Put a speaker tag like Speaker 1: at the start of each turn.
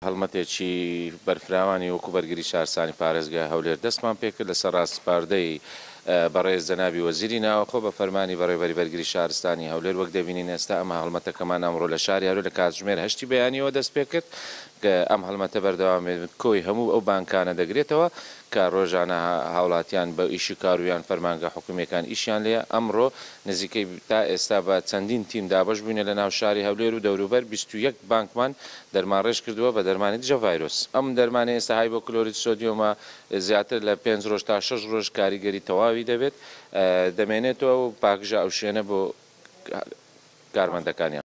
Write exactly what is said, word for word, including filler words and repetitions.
Speaker 1: هەڵمەتێکی بەرفراوانی وەکو بەرگری شارستانی پارێزگای هەولێر دەستمان پێکرد لەسەر ڕاسپاردەی بەڕێز جەنابی وەزیری ناوەخۆ بە فەرمانی بەڕێوەبەری بەرگری شارستانی هەولێر. وەک دەبینین ئێستا ئەم هەڵمەتەکەمان ئەمڕۆ لە شاری هەولێر لە کاتژمێر هەشتی بەیانیەوە دەست پێکرد. ئەم هەڵمەتە بەردەوام کۆی هەموو ئەو بانکانە دەگرێتەوە کە ڕۆژانە هاوڵاتیان بە ئیشی کارویان فەرمانگە حکومیەکان ئیشیان لێیە. ئەمڕۆ نزیکەی تا ئێستا بە چەندین تیم دابەش بووینە لە ناو شاری هەولێر و دەوروبەر بیست و یەک بانکمان دەرمانڕێژ کردووە بە دەرمانی دژە ڤایرۆس. ئەم دەرمانە ئێستا هایبۆکلۆریت سۆدیۆمە زیاتر لە پێنج ڕۆژ تا شەش ڕۆژ کاریگەری تەواوی دەبێت، دەمێنێتەوە و پاکژە ئەو شوێنە بۆ کارمەندەکانیان.